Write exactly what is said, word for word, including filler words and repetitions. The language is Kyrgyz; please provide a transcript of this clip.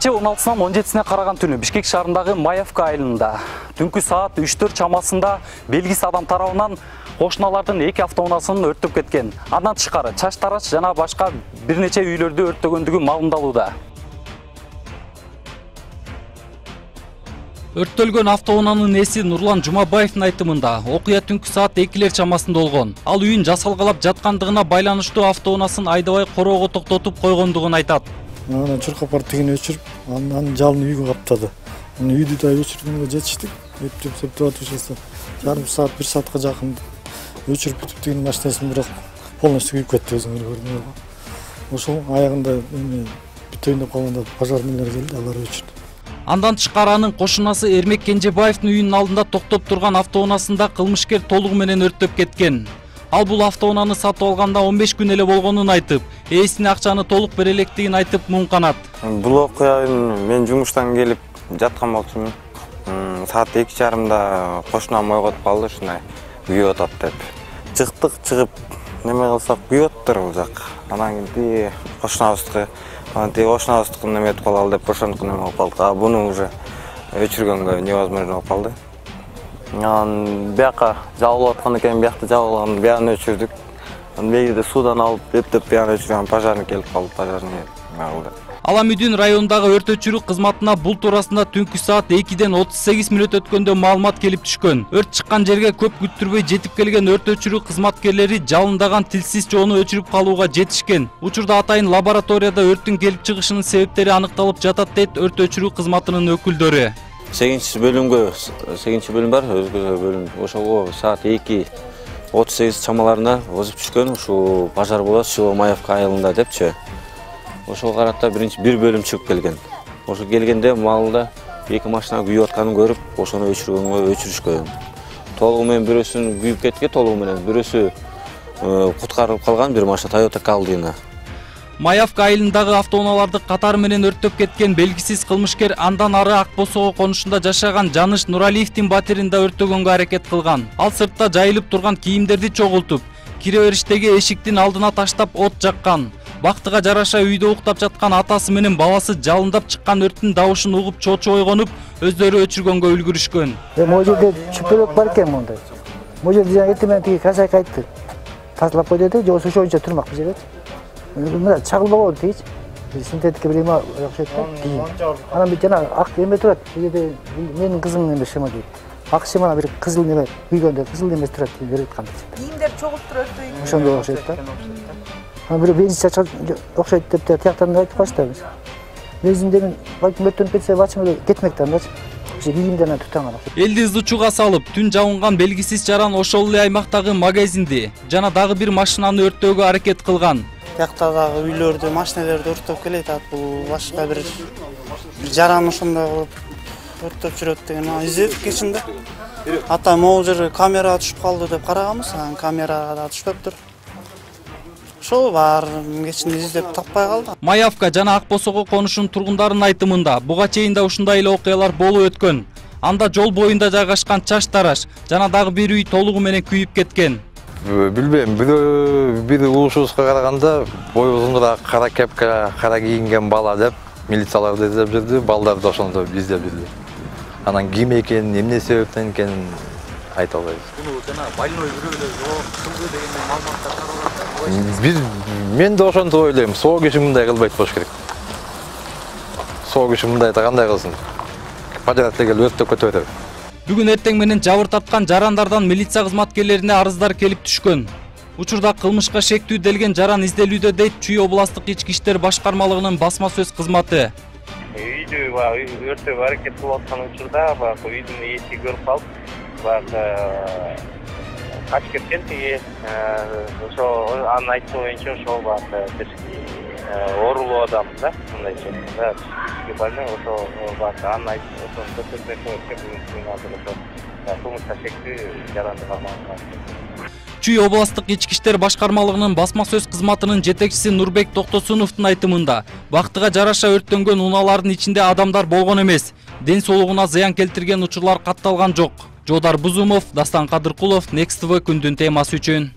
Кечээ он алтысынан он жетисине караган түнү Бишкек шаарындагы Маевка айылында түнкү саат үч төрт чамасында белгисиз адам тарабынан кошуналардын эки автоунасын өрттөп кеткен. Андан тышкары Чаш Тараш жана башка бир нече үйлөрдү өрттөгөндүгү маалымдалууда. Өрттөлгөн автоунаанын ээси Нурлан Жумабаевдин айтымында окуя түнкү саат экилер чамасында болгон. Ал үйүн жасалгалап жаткандыгына байланыштуу автоунаасын айдабай короого токтотуп койгондугун айтат. Анан чуркап тигин өчүрүп, анан жалын үйгө каптады. Аны үйдү да өчүргөнгө жетиштик. Эптеп септеп атышса, жарым саат, бир саатка жакын өчүрүп бүтүп тигин машинасын бирок полностью күйүп кетти өзүңөр көрдүңөр. Ошол аягында эми бүтөйүн деп калганда пожарныйлар келди, алар өчүрдү. Андан тышкары анын кошунасы Эрмек Кенжебаевдин үйүнүн алдында токтоп турган автоунаасында кылмышкер толугу менен өрттөп кеткен. Ал бул автоунааны сатып алганда он беш күн эле болгонун айтып, ээсине акчаны толук бере электигин айтып муңканат. Бул окуяны мен жумуштан келип жаткан болчумун. Саат эки жарымда кошунам ойготуп калды, ушундай күйүп атат деп. Чыктык, чыгып неме кылсак күйүп атыптыр бул жак. Анан кийин кошунабызды, анан тиги кошунабызды неме этип калалы деп ошондук неме кылып калдык. А буну уже өчүргөнгө невозможно болуп калды. Анан бияка жабылып аткан экен, биякты жабылган, бияны өчүрдүк. Анан мегиде суудан алып эптеп бияны өчүргөн пожарный келип калды, пожарный алды. Аламүдүн районундагы өрт өчүрүү кызматына бул туурасында түнкү саат экиден отуз сегиз мүнөт өткөндө маалымат келип түшкөн. Өрт чыккан жерге көп күттүрбөй жетип келген өрт өчүрүү кызматкерлери жалындаган тилсиз жоону өчүрүп калууга жетишкен. Учурда атайын лабораторияда өрттүн келип чыгышынын себептери аныкталып жатат дейт өрт өчүрүү кызматынын өкүлдөрү. сегизинчи бөлүмгө, сегизинчи бөлүм бар, өзгө бөлүм. Ошого саат эки отуз сегиз чамаларында озуп түшкөн, ушул пожар болот село Маевка айылында депчи. Ошого карата биринчи бир бөлүм чыгып келген. Ошо келгенде маалда эки машина күйүп атканын көрүп, ошону өчүргөнгө өчүрүшкөн. Толугу менен бирөөсүн күйүп кеткен, толугу менен бирөөсү куткарылып калган, бир машина Toyota Caldina. Маевка айылындагы автоунааларды катары менен өрттөп кеткен белгисиз кылмышкер андан ары Ак Босого конушунда жашаган Жаныш Нуралиевдин батирин да өрттөгөнгө аракет кылган. Ал сыртта жайылып турган кийимдерди чогултуп, кире бериштеги эшиктин алдына таштап от жаккан. Бактыга жараша үйдө уктап жаткан атасы менен баласы жалындап чыккан өрттүн дабышын угуп чочу ойгонуп, өздөрү өчүргөнгө үлгүрүшкөн. Могу жерде чүпөлөк бар экен мондай. Могу жерде эртең менен тиги хозяйка айтты. Тазалап кой деди, же ошончо турмак бул жерде. Мына чагылбаган тигич. Синтетика билем окшойт да. Анан бит жана ак эме турат. Бул жерде менин кызым эме шема дейт. Ак шемана бир кызыл неме күйгөндө кызыл эмес турат деп берип аткан. Кийимдер чогултуп өрттөйт. Ошондой окшойт да. Анан бир бензин чачат окшойт деп тияктан айтып калышты биз. Бензинден балким өттөнүп кетсе бачым эле кетмек да мынча. Кийимдерин тутанган. Элди ызычууга салып, түн жауынган белгисиз жаран ошол эле аймактагы магазинди жана дагы бир машинаны өрттөөгө аракет кылган. Тияктагы үйлөрдү, машиналерди өрттөп келет, бул башка бир жаран ошондой кылып өрттөп жүрөт деген издедик кечинде. Ата могу жер камерага түшүп калды деп караганбыз, анан камерага түшпөптүр. Ошол бар кечинде издеп таппай калды. Маевка жана Ак Босого конушунун тургундарынын айтымында буга чейин да ушундай эле окуялар болуп өткөн. Анда жол боюнда жайгашкан Чаш Тараш жана дагы бир үй толугу менен күйүп кеткен. Билбейм, бир угушубузга караганда бою узунураак кара кепка, кара кийинген бала деп милицияларды издеп жүрдү, балдар да ошондо издеп жүрдү. Анан ким экенин, эмне себептен экенин айта албайбыз. Буну жана больной бирөөлөр жок кылды деген маалыматтар таралат. Бир мен да ошондой ойлойм. Соо киши мындай кылбайт болуш керек. Соо киши мындай кандай кылсын? Пожарный келип өрттөп кете берет. Бүгүн эртең менен жабыр тапкан жарандардан милиция кызматкерлерине арыздар келип түшкөн. Учурда кылмышка шектүү делген жаран изделүүдө дейт Чүй областык ички иштер башкармалыгынын басма сөз кызматы. Үйдү өрттөөгө аракет кылып аткан учурда баягы үйдүн ээси көрүп калып, баягы качып кеткен тиги ошо анын айтуу боюнча ошол баягы бир оорулуу адам да, мындайча да, больной ошо баягы анын айтуу ошону көрсөтмөк болуп бүгүн азыр ошо кылмышка шектүү жаранды карманган. Чүй областык ички иштер башкармалыгынын басма сөз кызматынын жетекчиси Нурбек Токтосуновдун айтымында, бактыга жараша өрттөнгөн унаалардын ичинде адамдар болгон эмес. Ден соолугуна зыян келтирген учурлар катталган жок. Жодар Бузумов, Дастан Кадыркулов, Next тэ вэ күндүн темасы үчүн.